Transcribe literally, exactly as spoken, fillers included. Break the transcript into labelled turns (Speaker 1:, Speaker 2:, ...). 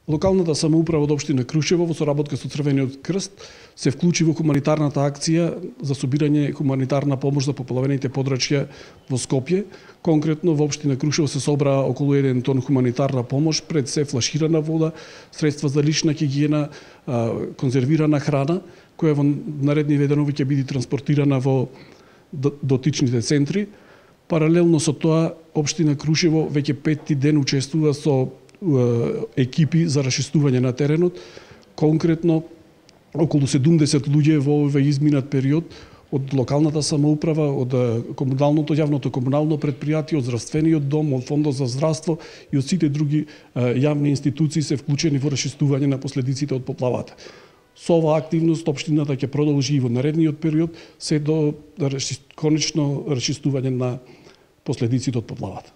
Speaker 1: Локалната самоуправа од општина Крушево во соработка со Црвениот крст се вклучи во хуманитарната акција за собирање хуманитарна помош за попlavените подрачја во Скопје. Конкретно во општина Крушево се собра околу еден тон хуманитарна помош, пред се флаширана вода, средства за лична хигиена, конзервирана храна, која во наредни денови ќе биде транспортирана во дотичните центри. Паралелно со тоа, општина Крушево веќе петти ден учествува со екипи за расчистување на теренот. Конкретно, околу седумдесет луѓе во овој изминат период од локалната самоуправа, од комуналното, јавното комунално предпријатие, од здравствениот дом, од фондот за здравство и од сите други јавни институции се вклучени во расчистување на последиците од поплавата. Со оваа активност општината ќе продолжи и во наредниот период се до конечно расчистување на последиците од поплавата.